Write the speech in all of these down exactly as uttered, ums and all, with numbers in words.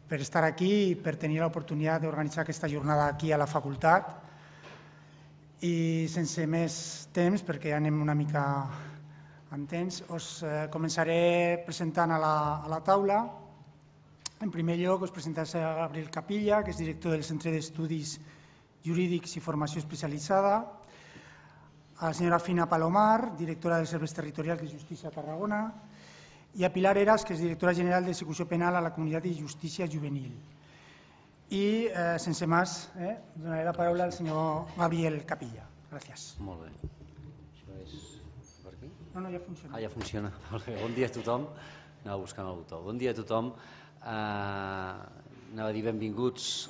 per estar aquí i per tenir l'oportunitat d'organitzar aquesta jornada aquí a la facultat. I sense més temps, perquè ja anem una mica amb temps, us començaré presentant a la, a la taula. En primer lloc, us presentaré a Gabriel Capilla, que és director del Centre d'Estudis Jurídics i Formació Especialitzada, a la senyora Fina Palomar, directora dels Serveis Territorials de Justícia a Tarragona, i a Pilar Heras, que és directora general d'Execució Penal a la Comunitat de Justícia Juvenil. I, eh, sense més, eh, donaré la paraula al senyor Gabriel Capilla. Gràcies. Molt bé. Això és per aquí? No, no, ja funciona. Ah, ja funciona. Bon dia a tothom. Anava buscant el botó. Bon dia a tothom. Uh, anava a dir benvinguts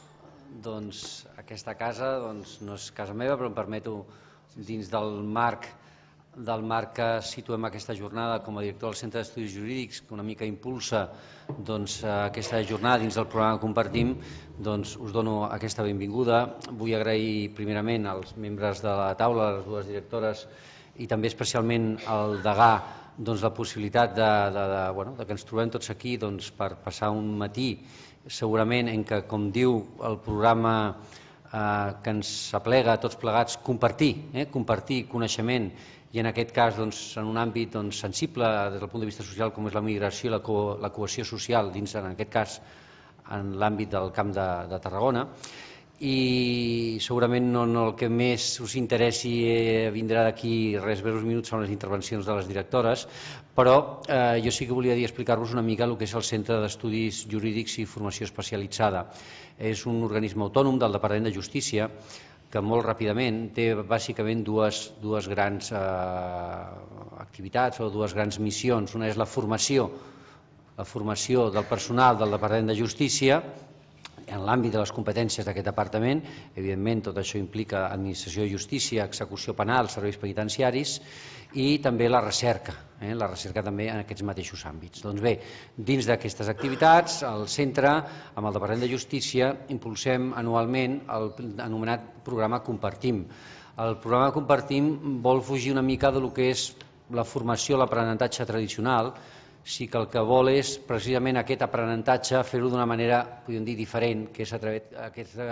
doncs, a aquesta casa. Doncs, no és casa meva, però em permeto, dins del marc del marc que situem aquesta jornada com a director del Centre d'Estudis Jurídics, que una mica impulsa doncs, aquesta jornada dins del programa que compartim, doncs, us dono aquesta benvinguda. Vull agrair primerament als membres de la taula, les dues directores, i també especialment al degà, doncs, la possibilitat de, de, de, bueno, de que ens trobem tots aquí doncs, per passar un matí, segurament en què, com diu el programa eh, que ens aplega a tots plegats, compartir, eh, compartir coneixement, i en aquest cas doncs, en un àmbit doncs, sensible des del punt de vista social com és la migració i la, co la cohesió social dins, en aquest cas, en l'àmbit del Camp de, de Tarragona. I segurament no, no el que més us interessi eh, vindrà d'aquí res breus minuts són les intervencions de les directores, però eh, jo sí que volia dir explicar-vos una mica el que és el Centre d'Estudis Jurídics i Formació Especialitzada. És un organisme autònom del Departament de Justícia que molt ràpidament té bàsicament dues, dues grans eh, activitats o dues grans missions. Una és la formació, la formació del personal del Departament de Justícia en l'àmbit de les competències d'aquest departament. Evidentment, tot això implica administració de justícia, execució penal, serveis penitenciaris i també la recerca, eh? la recerca també en aquests mateixos àmbits. Doncs bé, dins d'aquestes activitats, el centre, amb el Departament de Justícia, impulsem anualment el anomenat programa Compartim. El programa Compartim vol fugir una mica del que és la formació, l'aprenentatge tradicional, sí que el que vol és precisament aquest aprenentatge fer-ho d'una manera, podríem dir, diferent, que és a través d'aquesta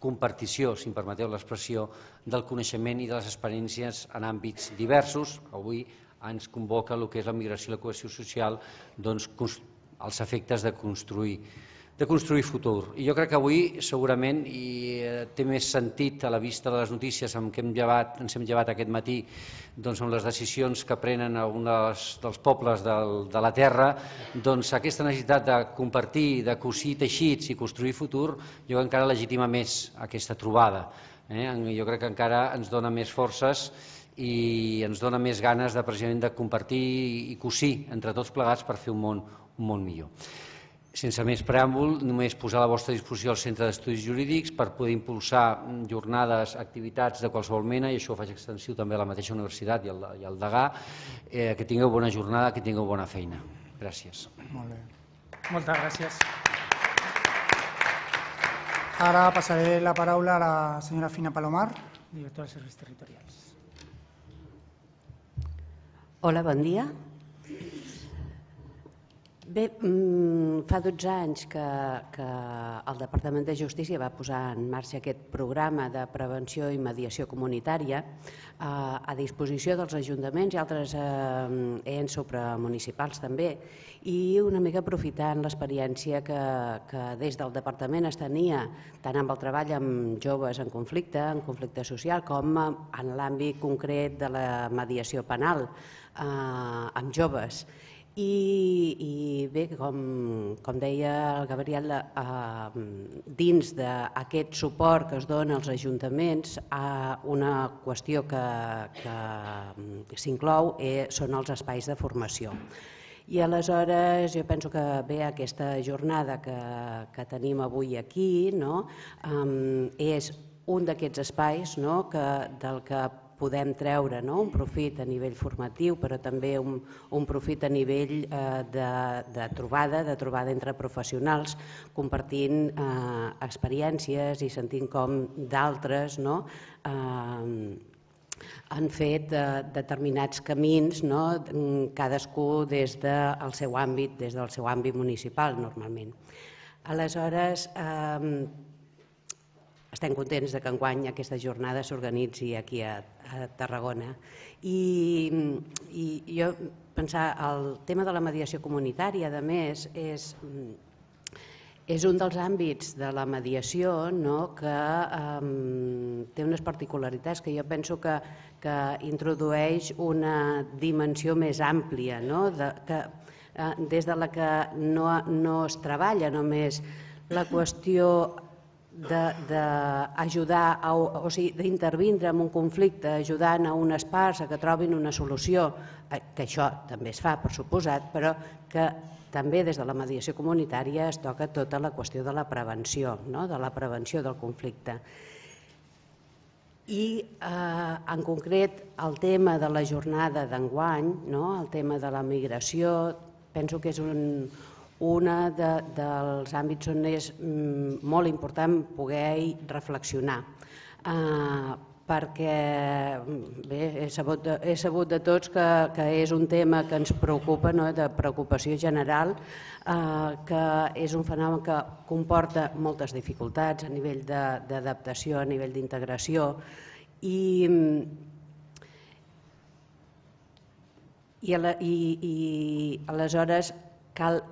compartició, si em permeteu l'expressió, del coneixement i de les experiències en àmbits diversos. Avui ens convoca el que és la migració i la cohesió social, doncs, els efectes de construir de construir futur. I jo crec que avui segurament i té més sentit a la vista de les notícies amb què hem llevat, ens hem llevat aquest matí doncs amb les decisions que prenen alguns dels pobles del, de la terra, doncs aquesta necessitat de compartir, de cosir teixits i construir futur, jo encara legitima més aquesta trobada. Eh? Jo crec que encara ens dona més forces i ens dona més ganes de, precisament, de compartir i cosir entre tots plegats per fer un món, un món millor. Sense més preàmbul, només posar a la vostra disposició el Centre d'Estudis Jurídics per poder impulsar jornades, activitats de qualsevol mena, i això ho faig extensiu també a la mateixa universitat i al, i al degà. Eh, que tingueu bona jornada, que tingueu bona feina. Gràcies. Molt bé. Moltes gràcies. Ara passaré la paraula a la senyora Fina Palomar, directora dels Serveis Territorials. Hola, bon dia. Bé, fa dotze anys que, que el Departament de Justícia va posar en marxa aquest programa de prevenció i mediació comunitària eh, a disposició dels ajuntaments i altres eh, ens supramunicipals també, i una mica aprofitant l'experiència que, que des del Departament es tenia tant amb el treball amb joves en conflicte, en conflicte social, com en l'àmbit concret de la mediació penal eh, amb joves. I, i bé, com, com deia el Gabriel, eh, dins d'aquest suport que es dona als ajuntaments, eh, una qüestió que, que s'inclou eh, són els espais de formació. I aleshores jo penso que bé, aquesta jornada que, que tenim avui aquí, no, eh, és un d'aquests espais, no, que, del que podem treure, no, un profit a nivell formatiu, però també un, un profit a nivell eh, de, de trobada, de trobada entre professionals, compartint eh, experiències i sentint com d'altres, no, eh, han fet eh, determinats camins, no, cadascú des del seu àmbit, des del seu àmbit municipal, normalment. Aleshores, estem contents que enguany aquesta jornada s'organitzi aquí a Tarragona. I jo pensar, el tema de la mediació comunitària, a més, és és un dels àmbits de la mediació que té unes particularitats que jo penso que introdueix una dimensió més àmplia, des de la que no es treballa només la qüestió d'ajudar, o sigui, d'intervindre en un conflicte, ajudant a unes parts a que trobin una solució, que això també es fa, per suposat, però que també des de la mediació comunitària es toca tota la qüestió de la prevenció, de la prevenció del conflicte. I en concret el tema de la jornada d'enguany, el tema de la migració, penso que és un dels àmbits on és molt important poder reflexionar, perquè he sabut de tots que és un tema que ens preocupa, de preocupació general, que és un fenomen que comporta moltes dificultats a nivell d'adaptació, a nivell d'integració, i aleshores cal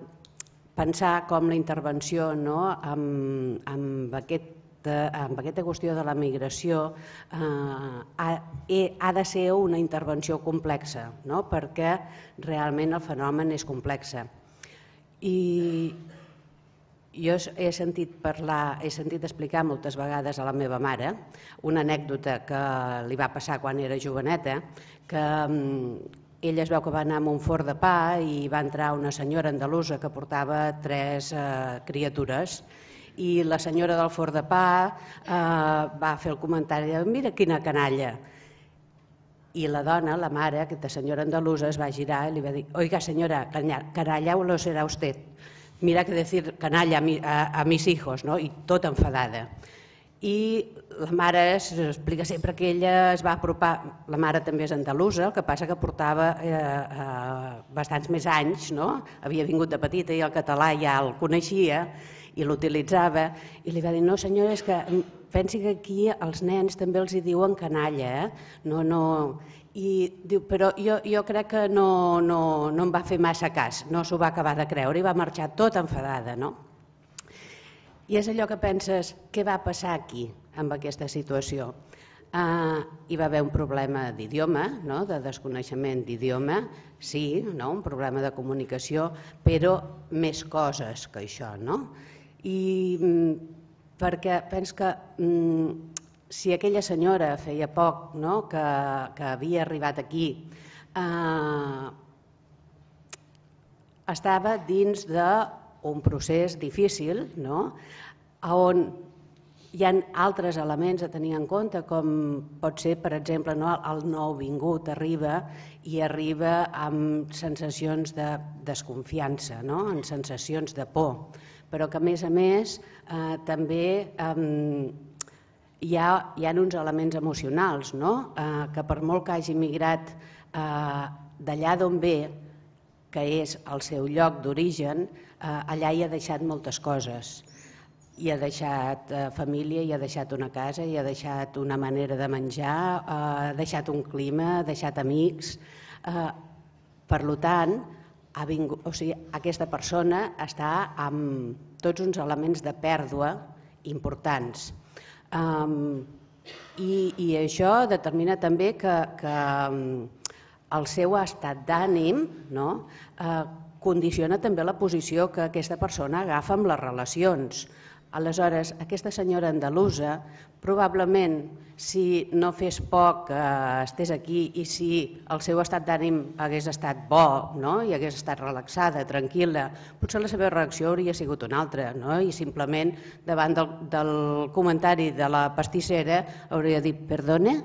pensar com la intervenció amb aquesta qüestió de la migració ha de ser una intervenció complexa, perquè realment el fenomen és complex. I jo he sentit parlar, he sentit explicar moltes vegades a la meva mare una anècdota que li va passar quan era joveneta, que ella es veu que va anar a un forn de pa i va entrar una senyora andalusa que portava tres criatures i la senyora del forn de pa va fer el comentari de mira quina canalla. I la dona, la mare, aquesta senyora andalusa, es va girar i li va dir oiga senyora, canalla o lo será usted. Mira que decir canalla a mis hijos, i tot enfadada. I la mare s'explica sempre que ella es va apropar, la mare també és andalusa, el que passa que portava bastants més anys, havia vingut de petita i el català ja el coneixia i l'utilitzava, i li va dir no senyora, és que pensi que aquí als nens també els hi diuen canalla, no, no... I diu, però jo crec que no em va fer massa cas, no s'ho va acabar de creure i va marxar tot enfadada, no? I és allò que penses, què va passar aquí, amb aquesta situació? Hi va haver un problema d'idioma, de desconeixement d'idioma, sí, un problema de comunicació, però més coses que això, no? I perquè penso que si aquella senyora feia poc que havia arribat aquí, estava dins d'un procés difícil on hi ha altres elements a tenir en compte, com pot ser, per exemple, el nouvingut arriba i arriba amb sensacions de desconfiança, amb sensacions de por, però que a més a més també hi ha uns elements emocionals, que per molt que hagi migrat d'allà d'on ve, que és el seu lloc d'origen, allà hi ha deixat moltes coses. Hi ha deixat família, hi ha deixat una casa, hi ha deixat una manera de menjar, ha deixat un clima, ha deixat amics. Per tant, aquesta persona està amb tots uns elements de pèrdua importants. I això determina també que el seu estat d'ànim condiciona també la posició que aquesta persona agafa amb les relacions. Aleshores, aquesta senyora andalusa, probablement, si no fes poc que estés aquí i si el seu estat d'ànim hagués estat bo i hagués estat relaxada, tranquil·la, potser la seva reacció hauria sigut una altra i simplement davant del comentari de la pastissera hauria dit perdone,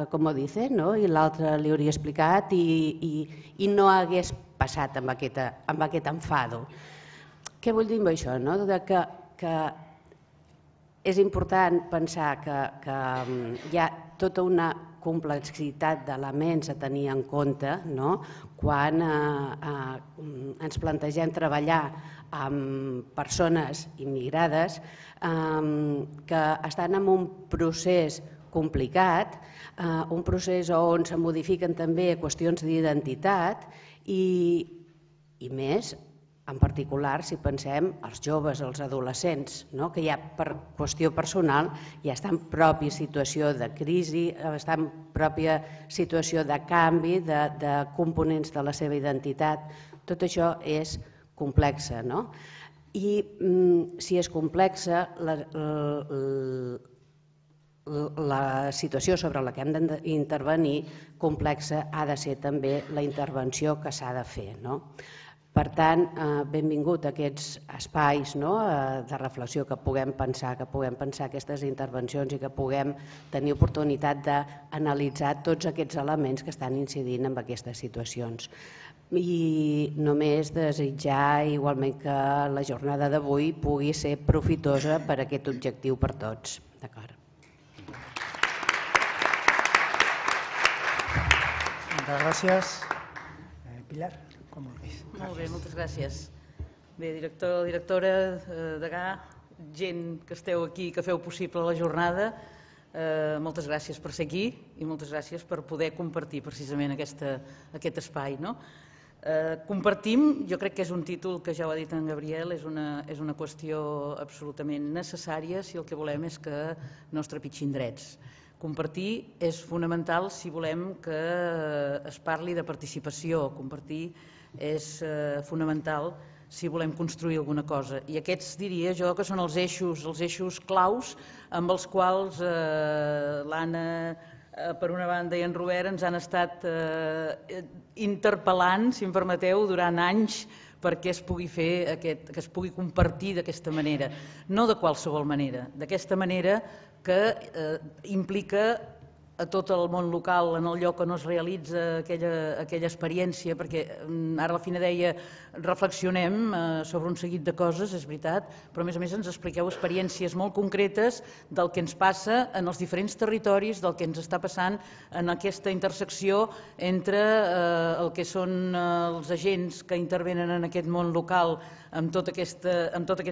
com ho dice, i l'altre li hauria explicat i no hagués passat amb aquest enfado. Què vull dir amb això? Que és important pensar que hi ha tota una complexitat d'elements a tenir en compte quan ens plantegem treballar amb persones immigrades que estan en un procés complicat, un procés on se modifiquen també qüestions d'identitat i més, en particular, si pensem els joves, els adolescents, que ja per qüestió personal ja estan en pròpia situació de crisi, estan en pròpia situació de canvi de components de la seva identitat. Tot això és complex. I si és complexa, la situació sobre la que hem d'intervenir complexa ha de ser també la intervenció que s'ha de fer. Per tant, benvingut a aquests espais de reflexió, que puguem pensar, que puguem pensar aquestes intervencions i que puguem tenir oportunitat d'analitzar tots aquests elements que estan incidint en aquestes situacions. I només desitjar igualment que la jornada d'avui pugui ser profitosa per a aquest objectiu per tots. D'acord. Moltes gràcies. Pilar, com vulguis. Molt bé, moltes gràcies. Bé, director, directora, degà, gent que esteu aquí, que feu possible la jornada, moltes gràcies per ser aquí i moltes gràcies per poder compartir precisament aquest espai. Compartim, jo crec que és un títol que ja ho ha dit en Gabriel, és una qüestió absolutament necessària si el que volem és que no es trepitgin drets. Compartir és fonamental si volem que es parli de participació, compartir és fonamental si volem construir alguna cosa. I aquests diria jo que són els eixos, els eixos claus amb els quals l'Anna, per una banda, i en Robert ens han estat interpel·lant, si em permeteu, durant anys perquè es pugui fer, que es pugui compartir d'aquesta manera. No de qualsevol manera, d'aquesta manera que implica a tot el món local, en el lloc on es realitza aquella experiència, perquè ara a la fina deia reflexionem sobre un seguit de coses, és veritat, però a més a més ens expliqueu experiències molt concretes del que ens passa en els diferents territoris, del que ens està passant en aquesta intersecció entre el que són els agents que intervenen en aquest món local, amb tot aquest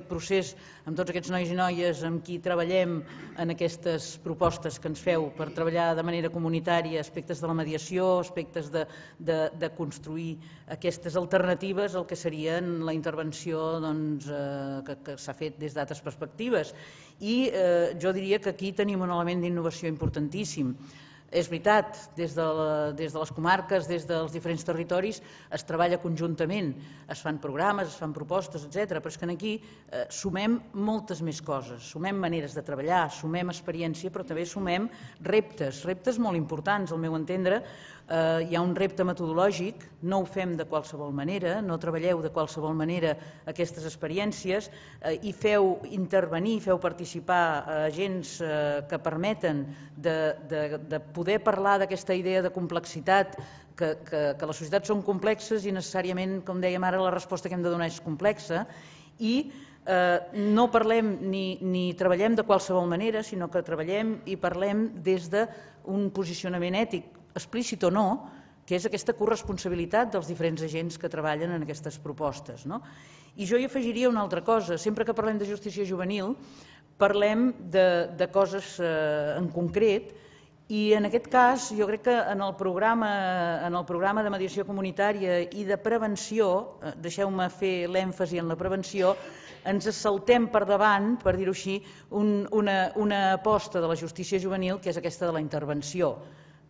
procés, amb tots aquests nois i noies amb qui treballem en aquestes propostes que ens feu per treballar de manera comunitària, aspectes de la mediació, aspectes de construir aquestes alternatives al que serien la intervenció que s'ha fet des d'altres perspectives. I jo diria que aquí tenim un element d'innovació importantíssim. És veritat, des de les comarques, des dels diferents territoris, es treballa conjuntament, es fan programes, es fan propostes, etcètera, però és que aquí sumem moltes més coses, sumem maneres de treballar, sumem experiència, però també sumem reptes, reptes molt importants, al meu entendre. Hi ha un repte metodològic, no ho fem de qualsevol manera, no treballeu de qualsevol manera aquestes experiències i feu intervenir, feu participar agents que permeten de poder parlar d'aquesta idea de complexitat, que les societats són complexes i necessàriament, com dèiem ara, la resposta que hem de donar és complexa, i no parlem ni treballem de qualsevol manera, sinó que treballem i parlem des d'un posicionament ètic, explícit o no, que és aquesta corresponsabilitat dels diferents agents que treballen en aquestes propostes. I jo hi afegiria una altra cosa. Sempre que parlem de justícia juvenil, parlem de coses en concret, i en aquest cas jo crec que en el programa de mediació comunitària i de prevenció, deixeu-me fer l'èmfasi en la prevenció, ens saltem per davant, per dir-ho així, una aposta de la justícia juvenil que és aquesta de la intervenció.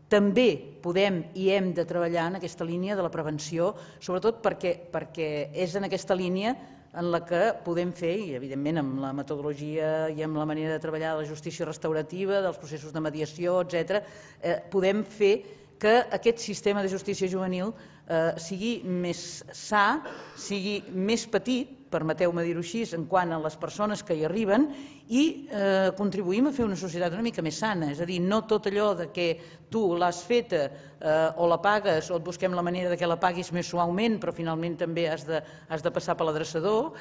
També podem i hem de treballar en aquesta línia de la prevenció, sobretot perquè és en aquesta línia en la que podem fer, i evidentment amb la metodologia i amb la manera de treballar de la justícia restaurativa, dels processos de mediació, etcètera, podem fer que aquest sistema de justícia juvenil sigui més sa, sigui més petit, permeteu-me dir-ho així, en quant a les persones que hi arriben, i contribuïm a fer una societat una mica més sana. És a dir, no tot allò que tu l'has feta o la pagues o et busquem la manera que la paguis més suaument, però finalment també has de passar per l'adreçador,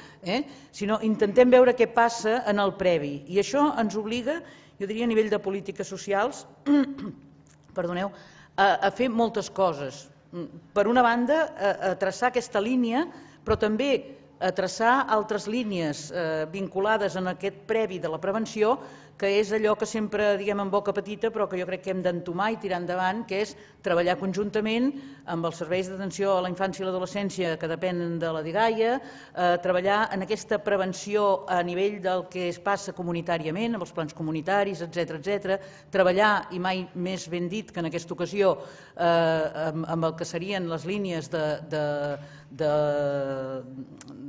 sinó intentem veure què passa en el previ. I això ens obliga, jo diria a nivell de polítiques socials, perdoneu, a, a fer moltes coses. Per una banda, a, a traçar aquesta línia, però també a traçar altres línies eh, vinculades en aquest previ de la prevenció, que és allò que sempre diguem en boca petita, però que jo crec que hem d'entomar i tirar endavant, que és treballar conjuntament amb els serveis d'atenció a la infància i l'adolescència que depenen de la DIGAIA, eh, treballar en aquesta prevenció a nivell del que es passa comunitàriament, amb els plans comunitaris, etcètera, etcètera, treballar, i mai més ben dit que en aquesta ocasió, eh, amb, amb el que serien les línies de, de, de,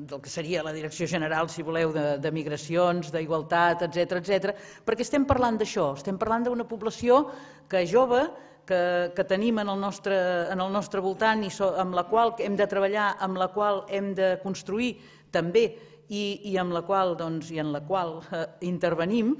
del que seria la Direcció General, si voleu, de, de migracions, d'igualtat, etcètera, etcètera, perquè estem parlant d'això, estem parlant d'una població que és jove, que, que tenim en el, nostre, en el nostre voltant i so, amb la qual hem de treballar, amb la qual hem de construir també i, i amb la qual, doncs, i en la qual eh, intervenim,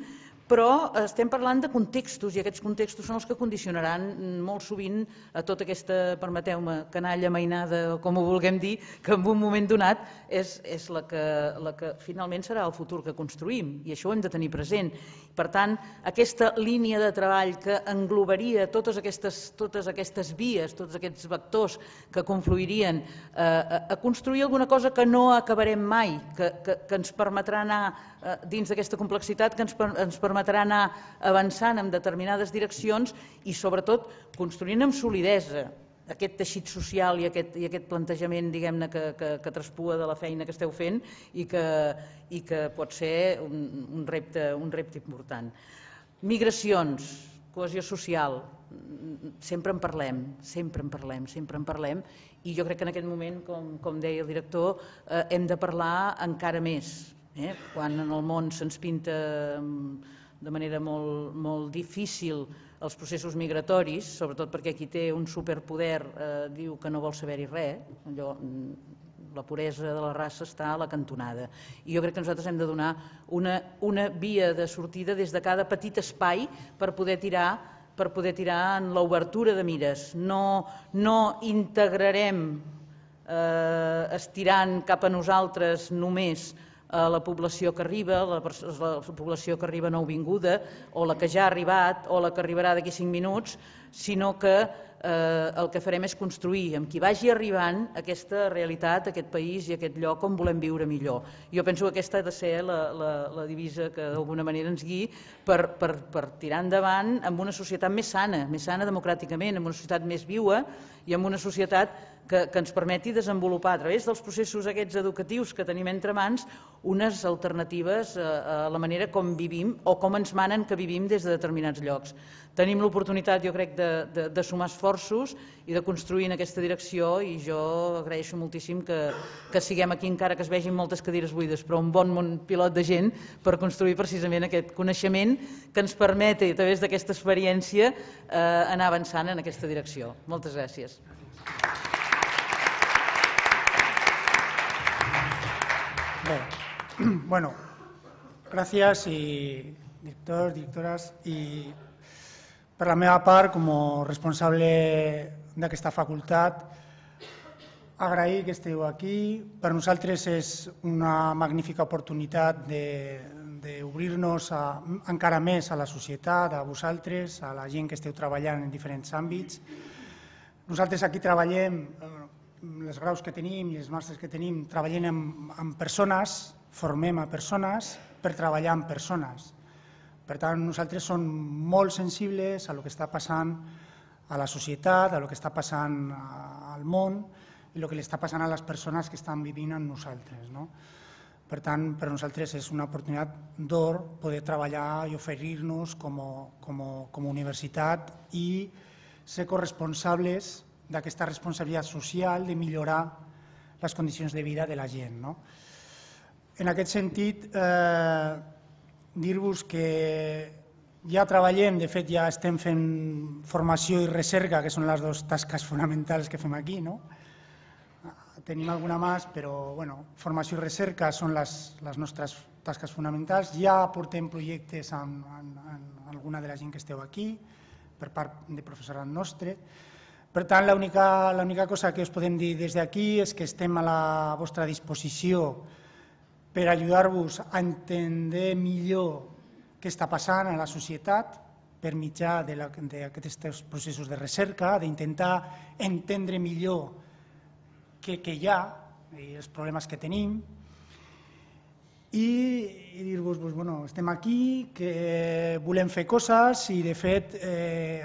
però estem parlant de contextos i aquests contextos són els que condicionaran molt sovint a tota aquesta, permeteu-me, canalla mainada o com ho vulguem dir, que en un moment donat és, és la, que, la que finalment serà el futur que construïm i això ho hem de tenir present. Per tant, aquesta línia de treball que englobaria totes aquestes, totes aquestes vies, tots aquests vectors que confluirien eh, a, a construir alguna cosa que no acabarem mai, que, que, que ens permetrà anar eh, dins d'aquesta complexitat, que ens, ens permetrà permetrà anar avançant en determinades direccions i sobretot construint amb solidesa aquest teixit social i aquest, i aquest plantejament, diguem-ne, que, que, que traspua de la feina que esteu fent i que, i que pot ser un, un, repte, un repte important. Migracions, cohesió social, sempre en parlem, sempre en parlem, sempre en parlem i jo crec que en aquest moment, com, com deia el director, eh, hem de parlar encara més. Eh? Quan en el món se'ns pinta de manera molt, molt difícil els processos migratoris, sobretot perquè qui té un superpoder eh, diu que no vol saber-hi res, allò, la puresa de la raça està a la cantonada. I jo crec que nosaltres hem de donar una, una via de sortida des de cada petit espai per poder tirar per poder tirar en l'obertura de mires. No, no integrarem eh, estirant cap a nosaltres només a la població que arriba, la, la població que arriba nouvinguda, o la que ja ha arribat, o la que arribarà d'aquí cinc minuts, sinó que eh, el que farem és construir amb qui vagi arribant aquesta realitat, aquest país i aquest lloc on volem viure millor. Jo penso que aquesta ha de ser la, la, la divisa que d'alguna manera ens guiï per, per, per tirar endavant amb una societat més sana, més sana democràticament, amb una societat més viua i amb una societat que, que ens permeti desenvolupar a través dels processos aquests educatius que tenim entre mans unes alternatives a, a la manera com vivim o com ens manen que vivim des de determinats llocs. Tenim l'oportunitat, jo crec, de, de, de sumar esforços i de construir en aquesta direcció i jo agraeixo moltíssim que, que siguem aquí encara que es vegin moltes cadires buides, però un bon món pilot de gent per construir precisament aquest coneixement que ens permeti a través d'aquesta experiència eh, anar avançant en aquesta direcció. Moltes gràcies. Bé, bueno, gràcies i directors, directores i per la meva part com a responsable d'aquesta facultat agrair que esteu aquí. Per nosaltres és una magnífica oportunitat d'obrir-nos encara més a la societat, a vosaltres, a la gent que esteu treballant en diferents àmbits. Nosaltres aquí treballem, els graus que tenim i els màsters que tenim, treballem amb, amb persones, formem a persones per treballar amb persones. Per tant, nosaltres som molt sensibles a el que està passant a la societat, a el que està passant al món i el que li està passant a les persones que estan vivint amb nosaltres. No? Per tant, per nosaltres és una oportunitat d'or poder treballar i oferir-nos com, com, com a universitat i ser corresponsables d'aquesta responsabilitat social de millorar les condicions de vida de la gent. No? En aquest sentit, eh, dir-vos que ja treballem, de fet ja estem fent formació i recerca, que són les dues tasques fonamentals que fem aquí. No? Tenim alguna més, però bueno, formació i recerca són les, les nostres tasques fonamentals. Ja portem projectes amb, amb, amb alguna de la gent que esteu aquí, per part de professorat nostre. Per tant, l'única cosa que us podem dir des d'aquí és que estem a la vostra disposició per ajudar-vos a entendre millor què està passant a la societat, per mitjà d'aquests processos de recerca, d'intentar entendre millor què hi ha i els problemes que tenim, i dir-vos, estem aquí, que volem fer coses i, de fet,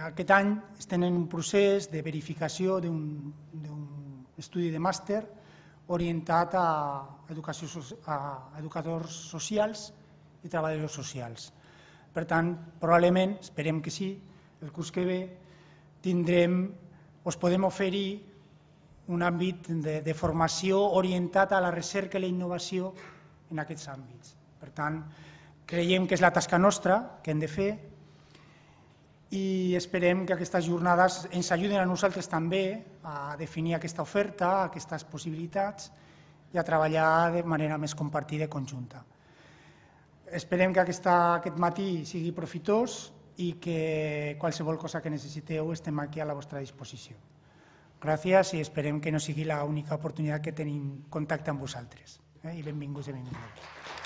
aquest any estem en un procés de verificació d'un estudi de màster orientat a educadors socials i treballadors socials. Per tant, probablement, esperem que sí, el curs que ve tindrem, us podem oferir un àmbit de formació orientat a la recerca i la innovació en aquests àmbits. Per tant, creiem que és la tasca nostra que hem de fer i esperem que aquestes jornades ens ajuden a nosaltres també a definir aquesta oferta, aquestes possibilitats i a treballar de manera més compartida i conjunta. Esperem que aquest matí sigui profitós i que qualsevol cosa que necessiteu estem aquí a la vostra disposició. Gràcies i esperem que no sigui l'única oportunitat que tenim contacte amb vosaltres. I benvinguts i benvingudes.